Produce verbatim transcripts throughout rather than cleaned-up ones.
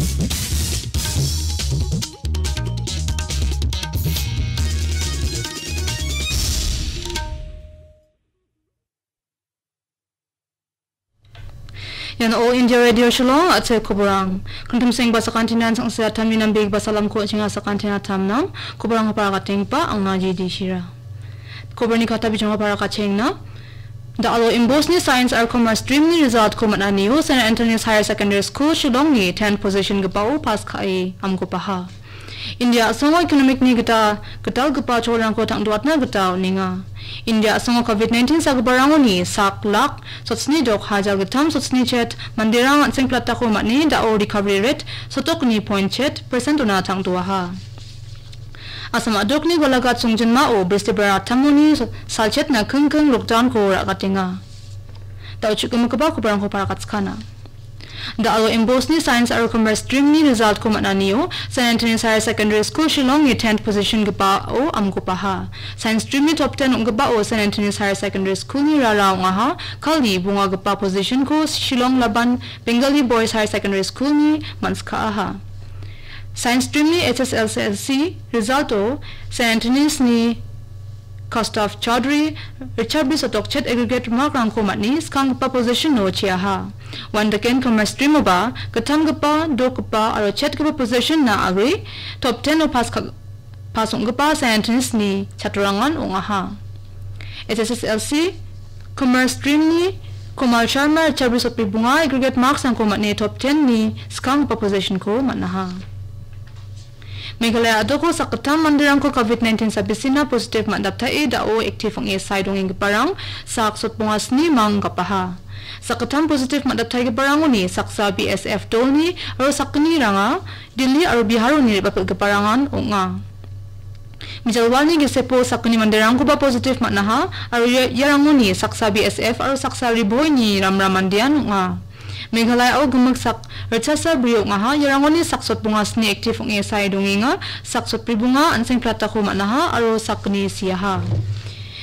Ian All India Radio Shillong, a·chel koborang. Kuntum sengba sakantinan sangsia tamni nambe basa lamko chinga sakantina tamnang. Koborang hapara katengpa angna G D Shira. Koborni kata bijong hapara kachengna. Da alo imbosni Science aro Commerce streamni resultko man·anio Saint Anthony's Higher Secondary School Shillongni tenth position gipao pass ka·e amgopaha. India a·songo economic-ni gita gitalgipa cholrangko tangdoatna gita on·enga. India a·songo covid nineteen sagiparangoni sak lak sotsni dok hajar gittam sotsni chet manderang an·seng platako man·e da·o recovery rate sotokni point chet percent-ona tangdoaha. Assam a·dokni Golaghat songjinmao Bristibara attamoni so-, salchetna kingking lockdown-ko ra·gatenga. Da·o chu·gimigipa kobarangko parakatskana. Da·o imbosni Science aro Commerce streamni resultko man·anio Saint Anthony's Higher Secondary School Shillongni tenth position gipao amgopaha. Science streamni top ten ong·gipao Saint Anthony's Higher Secondary Schoolni rara ong·aha, kali bongagipa positionko Shillong Laban Bengali Boys Higher Secondary Schoolni man·skaaha. Science streamni H S S L C resulto Saint Anthony's-ni Kaustubh Chaudhary, ritchabri sotokchet aggregate mark-rangko man·e skanggipa position-o cheaha. Uandaken Commerce stream-oba gittamgipa, dokgipa aro chetgipa position-na agre top ten-o pass ka-, pass ong·gipa Saint Anthony's-ni chatrorangan ong·aha. H S S L C Commerce stream-ni Komal Sharma ritchabri sotbri bonga aggregate marks-rangko man·e top ten-ni skanggipa position-ko man·aha. Meghalaya a·doko sakgittam manderangko covid nineteen sabisina positive man·daptae da·o active ong·e sae dongenggiparang sak sotbonga sni mang gapaha. Sakgittam positive man·daptaigiparangoni saksa B S F dolni aro sakgniranga Delhi aro Biharoni re·bapilgiparangan ong·a. Mijalwalni gisepo sakgni manderangkoba positive man·aha aro ia-, iarangoni saksa B S F aro saksa Ri Bhoini ramram mandean ong·a. Meghalayao gimik sak ritchasa bri ong·aha, iarangoni sak sotbonga sni active ong·e sae dongenga, sak sotbri bonga an·seng platako man·aha aro sakgni siaha.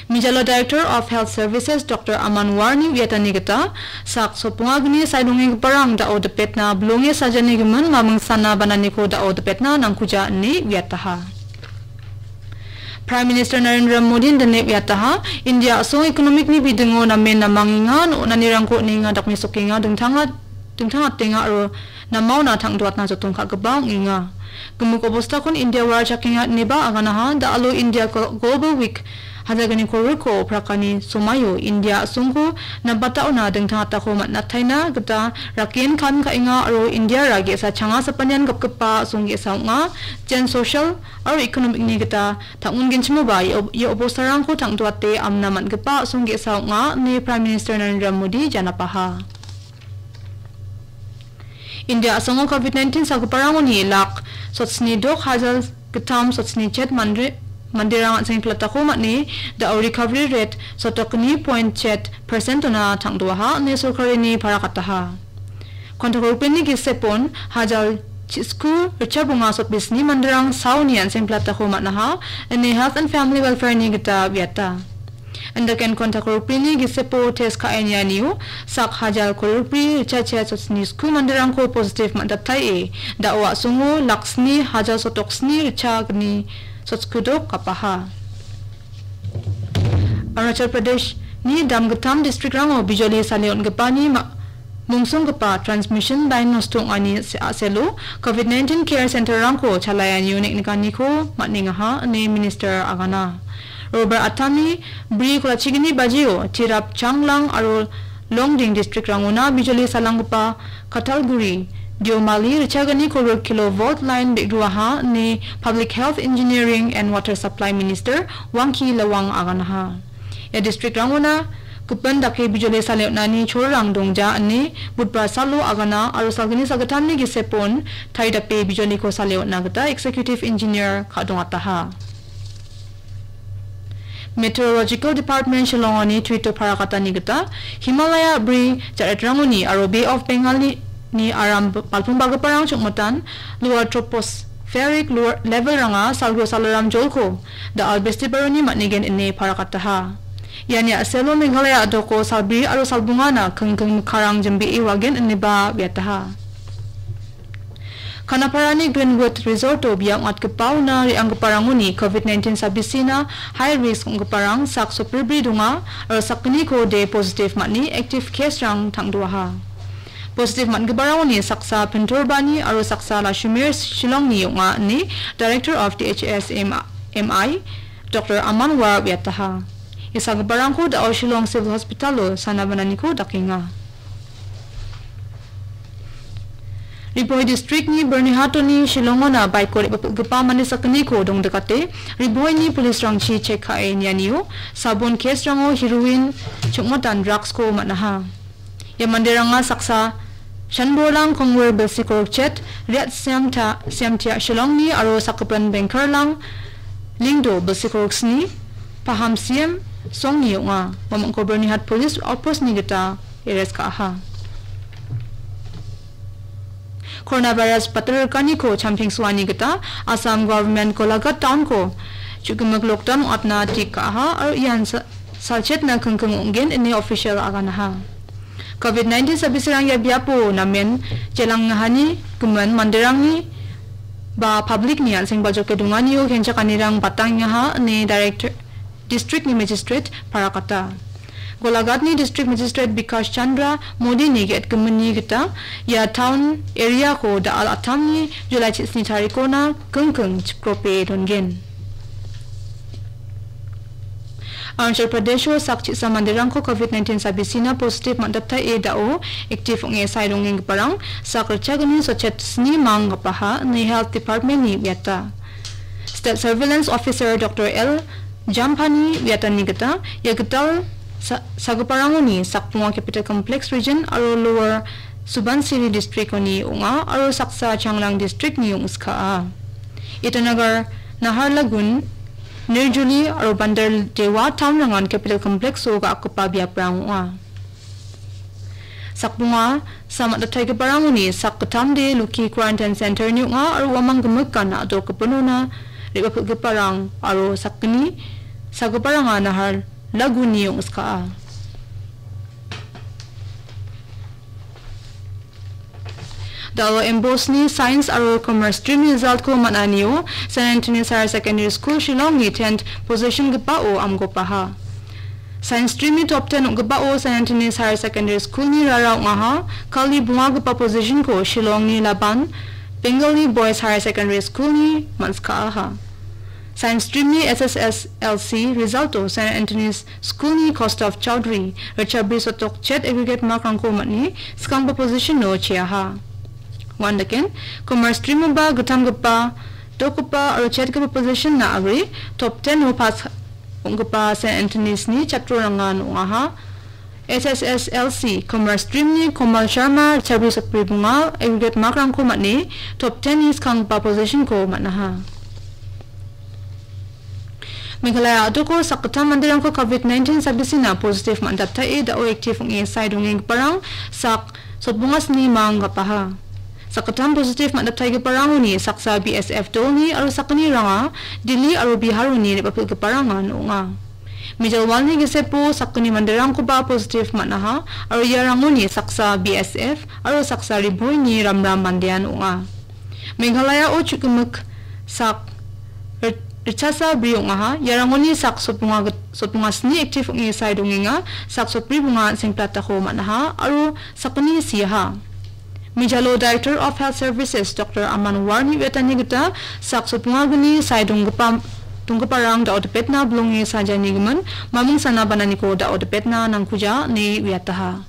Mijalo Director of Health Services Doctor Aman Warni uiatani gita, sak sotbonga gni sae dongenggiparang da·o dipetna bilonge sajani gimin maming sana bananiko da·o dipetna nangkuja ine uiataha. Prime Minister Narendra Modi-n dine uiataha, India a·song economic-ni bidingo namen namangenga, on·anirangko on·enga, dakmesokenga, dingtanga-, dingtangatenga aro namaona tangdoatna joton ka·gipa ong·enga. Gimik obostakon India warachakenga ineba aganaha, da·alo India Glo-, Global Week hajaganiko riko prakani somaio India a·songko nabataona dingtangatako man·ataina gita rakien kam ka·enga aro Indiara ge·sa changa sapanian gapgipa a·song ge·sa ong·a. Jen social aro economic-ni gita tang·ungenchimoba ia ob-, ia obostarangko tangdoate amna man·gipa a·song ge·sa ong·a, ine Prime Minister Narendra Modi janapaha. India a·songo covid nineteen sagiparangoni lak sotsni dok hajar gittam sotsni chet mandri-, manderang an·seng platako man·e da·o recovery rate sotokni point chet percent-ona tangdoaha ine sorkarini parakataha. Kontakrokpeni gisepon hajar chisku ritchabonga sotbisni manderang saoni an·seng platako man·aha ine Health and Family Welfare-ni gita uiata. Indaken kontakrokpeni gisepo test ka·enianio sak hajar korokbri ritchachet sotsni sku manderangko positive man·daptaie da·o a·songo lak sni hajar sotok sni ritchagni sotsku dok gapaha. Arunachal Pradeshni damgittam district-rango bijoli sale on·gipani ma-, mungsonggipa transmission line nosto ong·ani se-, a·selo covid nineteen care center-rangko chalaianio neng·nikaniko man·engaha ine minister agana. Robar atani bri kolachigini bajio Tirap Changlang aro Longding district-rangona bijoli salanggipa Kathalguri, Deomali ritchagani korok kilovolt line be·ruaha ine Public Health Engineering and Water Supply Minister Wangkee Lawang aganaha. Ia district-rangona gipin dake bijoli sale on·ani cholrang dongja ine Budbar salo agana aro salgni sagittamni gisepon taridape bijoliko sale on·na gita Executive Engineer ka·dongataha. Meteorological Department Shillongoni Twitter parakatani gita, Himalaya bri jaretrangoni aro Bay of Bengalni aram balpingbagiparang chongmitan Lower Tropospheric Lower Levelranga salgio salaram jolko da-al bestibaroni man·igen ine parakataha. Iani a·selo Meghalaya a·doko salbri aro salbongana kingking mikkarang jimbee wagen ineba uiataha. Kanaparani Greenwood Resort-o bia ong·atgipaona re·anggiparangoni covid nineteen sabisina high risk ong·giparang sak sopribri donga aro sakgniko de positive man·e active case-rang tangdoaha. Positive man·giparangoni saksa Pinturbani aro saksa Lashumir Shillongni ong·a ine Director of D H S M I Doctor Aman War uiataha. Ia sagiparangko da·o Shillong Civil Hospital-o sana bananiko dakenga. Ri Bhoi District-ni Byrnihat-oni Shillong-ona bike-o re·bapilgipa mande sakgniko dongdikate, Ri Bhoini police-rangchi check ka·e nianio, sabon case-rango heroin, chongmatan drugs-ko man·aha. Ia manderanga saksa Shanborlang Kongwir Bilsikorok Chet, Riat Siamta, Siamtia Shillongni aro sakgipin Bengkarlang Lingdo Bilsikorok Sni, Paham Siam Songni ong·a. Uamangko Byrnihat Police Outpost-ni gita arrest ka·aha. Coronavirus batirrikaniko champengsoani gita Assam Government Golaghat Town-ko chu·gimik lockdown ong·atna tik ka·aha aro ian sa-, salchetna kingking ong·gen ine official aganaha. Covid nineteen sabisirang ia biapo namen jelangahani gimin manderangni ba public-ni an·seng baljoke donganio kenchakanirang batangengaha ine Director, District-ni Magistrate parakata. Golaghatni District Magistrate Bikash Chandra Modi-ni ge·etgiminni gita ia town area-ko da·al attamni July chisni tarikona kingking chikrope dongen. Arunachal Pradesh-o sak chisa manderangko covid nineteen sabisina positive man·datae da·o active ong·e sae dongenggiparang sak ritchagni sotchet sni mang gapaha ine Health Department-ni uiata. State Surveillance Officer Doctor L Jampani uiatani gita, ia gital sa-, sagiparangoni sakbonga Capital Complex Region aro Lower Subansiri District-oni ong·a aro saksa Changlang District-ni ong·skaa. Itanagar, Naharlagun, Nirjuli aro Bandar Dewa town-rangan Capital Complex-o ga·akgipa biaprang ong·a. Sakbonga, sa man·dataigiparangoni sakgittamde Luki Quarantine Center-ni ong·a aro uamang gimik gana a·dokgipinona re·bapilgiparang aro sakgni sagiparanga Naharlaguni ong·skaa. Da·o M B O S-ni Science aro Commerce Stream result-ko man·anio Saint Anthony's Higher Secondary School Shillong-ni tenth position-gipao amgopaha. Science Stream-ni top ten ong·gipao Saint Anthony's Higher Secondary School-ni rara ong·aha, kali bongagipa position-ko Shillong-ni Laban Bengali Boys Higher Secondary School-ni man·skaaha. Science Stream-ni S S S L C result-o Saint Anthony's School-ni Kaustubh Chowdhury, ritchabri sotok chet aggregate mark-rangko man·e, skanggipa position-o cheaha. Uandaken, Commerce Stream-oba gittamgipa, dokgipa aro chetgipa position-na agre, top ten-o pass ong·gipa Saint Anthony's-ni chatrorangan ong·aha. S S S L C Commerce Stream-ni Komal Sharma, ritchabri sotbri bonga, aggregate mark-rangko man·e, top ten-ni skanggipa position-ko man·aha. Meghalaya a·doko sakgittam manderangko covid nineteen sabisina positive man·datae da·o active ong·e sae dongenggiparang sak sotbonga sni mang gapaha. Sakgittam positive man·dataigiparangoni saksa B S F dolni aro sakgniranga Delhi aro Biharoni re·bapilgiparangan ong·a. Mijalwalni gisepo sakgni manderangkoba positive man·aha aro iarangoni saksa B S F aro saksa Ri Bhoini ramram mandean ong·a. Meghalaya-o chu·gimik sak rit-, ritchasa bri ong·aha. Iarangoni sak sotbonga git-, sotbonga sni active ong·e sae dongenga, sak sotbri bonga an·seng platako man·aha aro sakgni siaha. Mijalo Director of Health Services Doctor Aman Warni uiatani gita sak sotbongagni sae donggipa, donggiparang da·o dipetna bilonge sajanigimin maming sana bananiko da·o dipetna nangkuja ine uiataha.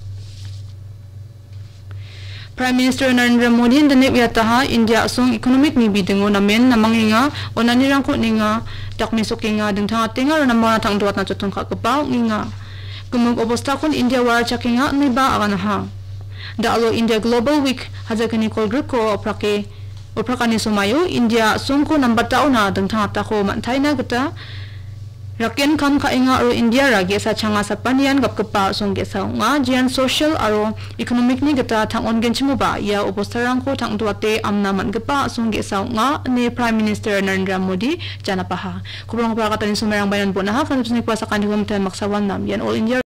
Prime Minister Narendra Modi indine uiataha, India a·song economic-ni bidingo namen namangenga, onanirangko on·enga, dakmesokenga, dingtang atenga aro namona tangdoatna joton ka·gipa ong·enga. Gimik obostakon India warachakenga ineba aganaha. Da·alo India Global Week hajakani kolgrikko oprake, oprakani somaio India a·songko nambatdaona dingtang atako man·taina gita raken kam ka·enga aro Indiara ge·sa changa sapanian gapgipa a·song ge·sa ong·a, jeran social aro economic-ni gita tang·ongenchimoba ia obostarangko tangdoate amna man·gipa a·song ge·sa ong·a, ine Prime Minister Narendra Modi janapaha. Kobronggipa agatani somairang bainan bon·aha, kanapsnikoa sakantikon mitan maksawan nam. Ian All India